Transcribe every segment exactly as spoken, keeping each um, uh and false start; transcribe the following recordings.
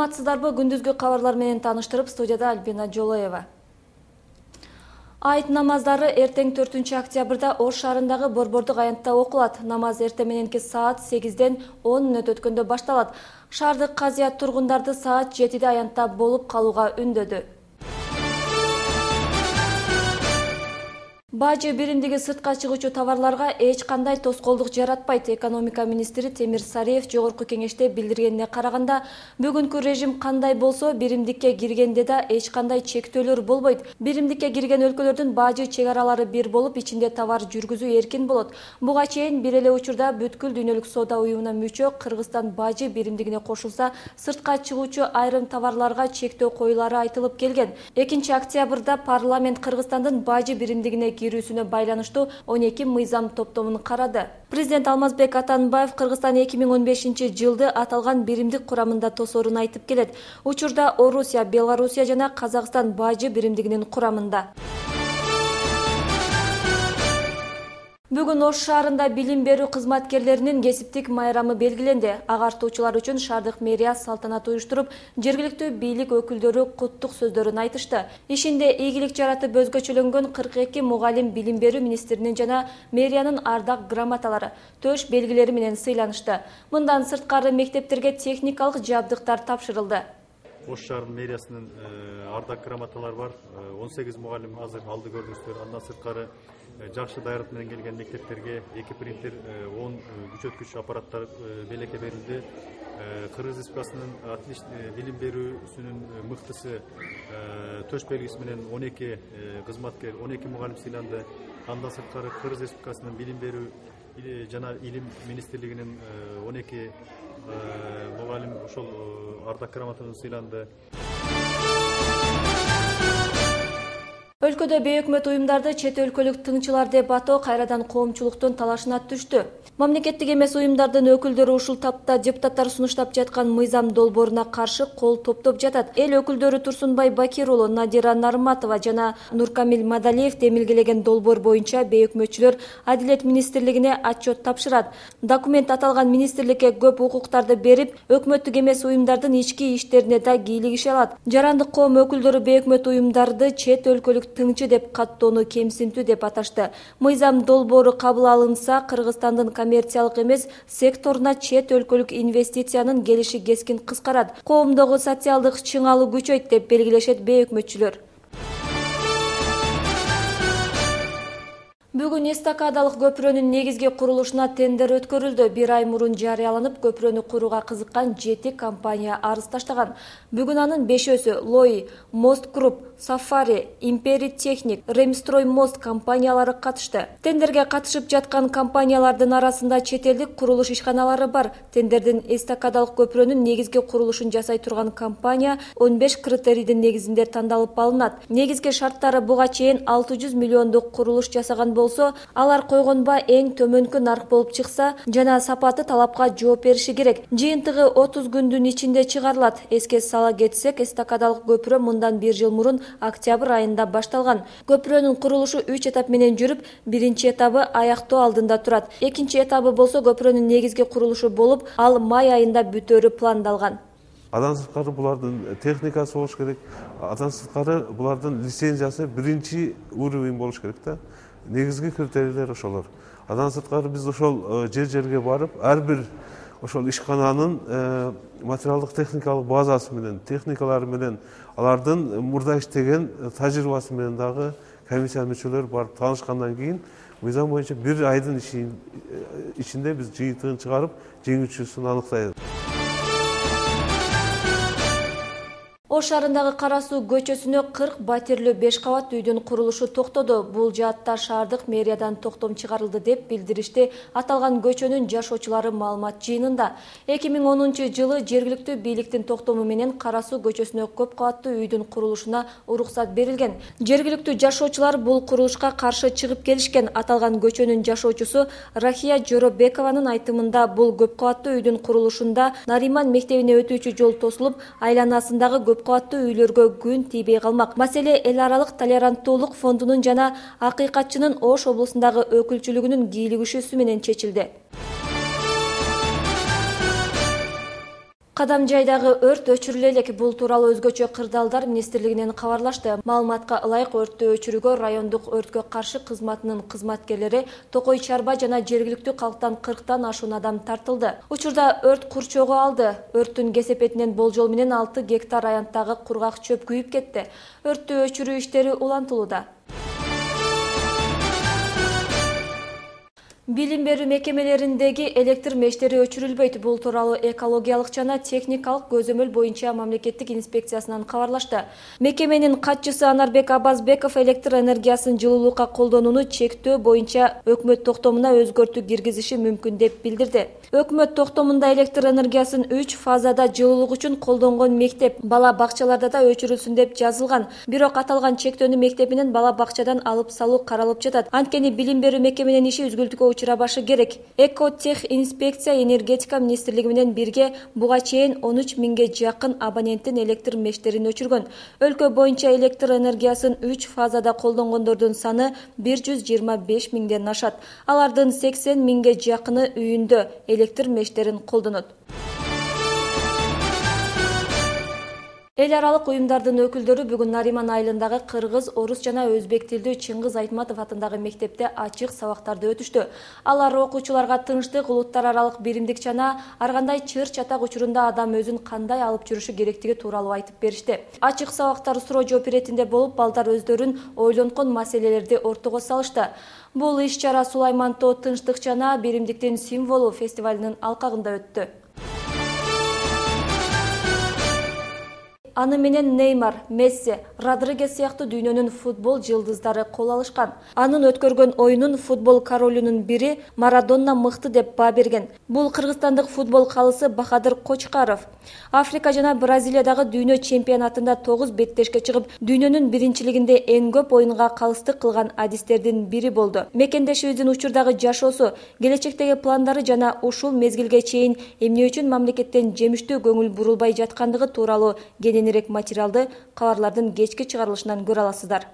Саламатсыздарбы? Күндүзгү кабарлар менен тааныштырып, студияда Альбина Жолоева. Айт намаздары эртең төртүнчү октябрда Ош шаарындагы Борбордук аянтта окулат. Намаз эртең мененки саат сегизден он мүнөт өткөндө башталат. Шаардык казыят тургундарды саат жетиде аянтта болуп калууга үндөдү. Бажы биримдиги сыртка чыгуучу товарларга эч кандай тоскоолдук жаратпайт. Экономика министри Темир Сариев жогорку кеңеште билдиргенине караганда, бүгүнкү режим кандай болсо, биримдикке киргенде да эч кандай чектөөлөр болбойт. Биримдикке кирген өлкөлөрдүн бажы чек аралары бир болуп, ичинде товар жүргүзүү эркин болот. Буга чейин бир эле учурда бүткүл дүйнөлүк соода уюмуна мүчө Кыргызстан бажы биримдигине кошулса, сыртка чыгуучу айрым товарларга чектөө коюлары айтылып келген. экинчи октябрда парламент Кыргызстандын бажы биримдигине кирүүсүнө байланыштуу он эки мыйзам топтомун карады. Президент Алмазбек Атамбаев Кыргызстан эки миң он бешинчи жылды аталган биримдик курамында тосоорун айтып келет. Учурда Орусия, Белоруссия жана Казакстан бажы биримдигинин курамында. Бүгүн Ош шаарында билим берүү кызматкерлеринин кесиптик майрамы белгиленди. Агартуучулар үчүн шаардык мэрия салтанат уюштуруп, жергиликтүү бийлик өкүлдөрү куттук сөздөрүн айтышты. Ишинде ийгилик жаратып өзгөчөлөнгөн кырк эки мугалим билим берүү министринин жана мэриянын ардак грамоталары, төш белгилери менен сыйланышты. Мындан сырткары мектептерге техникалык жабдыктар тапшырылды. Ош шаарынын мэриясынын ардак грамоталары бар. он сегиз мугалим азыр алды көрдүңүздөр. Андан сырткары жакшы даярдык менен келген мектептерге эки принтер, он күчөткүч аппараттар белекке берилди. Кыргыз Республикасынын билим берүүсүнүн мыктысы төш белгиси менен он эки кызматкер, он эки мугалим сыйланды. Андан сырткары Кыргыз Республикасынын билим берүү жана илим министрлигинин он эки мугалим ошол ардак грамотадан сыйланды. Өлкөдө бейөкмөт уюмдарды чет өлкөлүк тыңчылар деп атоо кайрадан коомчулуктун талашына түштү. Мамлекеттик эмес уюмдардын өкүлдөрү ушул тапта депутаттар сунуштап жаткан мыйзам долбооруна каршы кол топтоп жатат. Эл өкүлдөрү Турсунбай Бакир уулу, Надира Нарматова жана Нуркамил Мадалиев демилгелеген долбоор боюнча бейөкмөтчүлөр Адилет министрлигине отчет тапшырат. Документ аталган министрликке көп укуктарды берип, өкмөттүк эмес уюмдардын ички иштерине да кийлигише алат. Жарандык коом өкүлдөрү бейөкмөт уюмдарды чет өлкөлүк тыңчы деп каттоону кемсинтүү деп аташты. Мыйзам долбоору кабыл алынса, Кыргызстандын коммерциялык эмес секторуна чет өлкөлүк инвестициянын келиши кескин кыскарат. Коомдогу социалдык чыңалуу күчөйт деп белгилешет бейөкмөтчүлөр. Бүгүн эстакадалык көпүрөнүн негизги курулушуна тендер өткөрүлдү. Бир ай мурун жарыяланып, көпүрөнү курууга кызыккан жети компания арыз таштаган. Бүгүн анын бешөөсү Лои, Мост Груп, Сафари, Импери Техник, Ремстрой Мост компаниялары катышты. Тендерге катышып жаткан компаниялардын арасында чет элдик курулуш ишканалары бар. Тендердин эстакадалык көпүрөнүн негизги курулушун жасай турган компания он беш критерийдин негизинде тандалып алынат. Негизги шарттары буга чейин алты жүз миллиондук курулуш жасаган болсо, алар койгонба эң төмөнкү нарк болуп чыкса жана сапаты талапка жооп бериши керек. Жыйынтыгы отуз күндүн ичинде чыгарылат. Эске сала кетсек, эстакадалык көпүрө мындан бир жыл мурун октябрь айында башталган. Көпүрөнүн курулушу үч этап менен жүрүп, биринчи этабы аяктоо алдында турат. Экинчи этабы болсо көпүрөнүн негизги курулушу болуп, ал май айында бүтөөрү пландалган. Андан сырткары булардын техникасы болуш керек. Андан сырткары булардын лицензиясы биринчи уровень болуш керек да. Негизги критерийлер ошолор. Андан сырткары биз ошол жер-жерге барып, ар бир ошол ишкананын материалдык техникалык базасы менен, техникалары менен, алардын мурда иштеген тажрыйбасы менен дагы комиссия мүчөлөрү барып таанышкандан кийин, мыйзам боюнча бир айдын ичинде биз жыйынтыгын чыгарып, жеңүүчүсүн аныктайбыз. Ош шаарындагы Кара Суу көчөсүнө кырк батирлүү беш кабат үйдүн курулушу токтоду. Бул жаатта шаардык мэриядан токтом чыгарылды деп билдиришти аталган көчөнүн жашоочулары маалымат жыйынында. эки миң онунчу жылы жергиликтүү бийликтин токтому менен Кара Суу көчөсүнө көп кабаттуу үйдүн курулушуна уруксат берилген. Жергиликтүү жашоочулар бул курулушка каршы чыгып келишкен. Аталган көчөнүн жашоочусу Рахия Жоробекованын айтымында, бул көп кабаттуу үйдүн курулушунда Нариман мектебине өтүүчү жол тосулуп, айланасындагы көп кабаттуу үйлөргө күн тийбей калмак. Маселе эл аралык толеранттуулук фондунун жана Акыйкатчынын Ош облусундагы өкүлчүлүгүнүн кийлигишүүсү менен чечилди. Кадам жайдагы өрт өчүрүлө элек. Бул тууралуу Өзгөчө кырдаалдар министрлигинен кабарлашты. Маалыматка ылайык, өрттү өчүрүүгө райондук өрткө каршы кызматынын кызматкерлери, Токой чарба жана жергиликтүү калктан кырктан ашуун адам тартылды. Учурда өрт курчоого алды. Өрттүн кесепетинен болжол менен алты гектар аянттагы кургак чөп күйүп кетти. Өрттү өчүрүү иштери улантылууда. Билим берүү мекемелериндеги электр мештери өчүрүлбөйт. Бул тууралуу экологиялык жана техникалык көзөмөл боюнча мамлекеттик инспекциясынан кабарлашты. Мекеменин катчысы Анарбек Абазбеков электр энергиясын жылуулукка колдонууну чектөө боюнча өкмөт токтомуна өзгөртүү киргизиши мүмкүн деп билдирди. Өкмөт токтомунда электр энергиясын үч фазада жылуулук үчүн колдонгон мектеп, бала бакчаларда да өчүрүлсүн деп жазылган. Бирок аталган чектөөнү мектеп менен бала бакчадан алып салуу каралып жатат. Анткени билим берүү мекеменин иши үзгүлтүккө учурабашы керек. Экотех инспекция энергетика министрлиги менен бирге буга чейин он үч миңге жакын абоненттин электр мештерин өчүргөн. Өлкө боюнча электр энергиясын үч фазада колдонгондордун саны бир жүз жыйырма беш миңден ашат. Алардын сексен миңге жакыны үйүндө электр мештерин колдонот. Эл аралык уюмдардын өкүлдөрү бүгүн Нариман айылындагы кыргыз, орус жана өзбек тилдүү Чыңгыз Айтматов атындагы мектепте ачык сабактарды өтүштү. Алар окуучуларга тынчтык, улуттар аралык биримдик жана ар кандай чыр-чатак учурунда адам өзүн кандай алып жүрүшү керектиги тууралуу айтып беришти. Ачык сабактар суроо жооп иретинде болуп, балдар өздөрүн ойлонкон маселелерди ортого салышты. Бул иш-чара Сулайман Тоо тынчтык жана биримдиктин символу фестивалынын алкагында өттү. Аны менен Неймар, Месси, Родригес сыяктуу дүйнөнүн футбол жылдыздары кол алышкан. Анын өткөргөн оюнун футбол королүнүн бири Марадона мыкты деп баа берген. Бул кыргызстандык футбол калысы Бахадыр Кочкаров. Африка жана Бразилиядагы дүйнө чемпионатында тогуз беттешке чыгып, дүйнөнүн биринчилигинде эң көп оюнга калыстык кылган адистердин бири болду. Мекендешибиздин учурдагы жашоосу, келечектеги пландары жана ушул мезгилге чейин эмне үчүн мамлекеттен жемиштүү көңүл бурулбай жаткандыгы тууралуу кененирээк материалды кабарлардын кечки чыгарылышынан көрө аласыздар.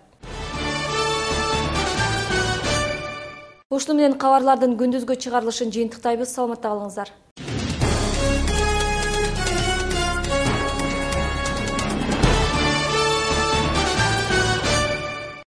Ушуну менен кабарлардын күндүзгү чыгарылышын жыйынтыктайбыз. Саламатта калыңыздар.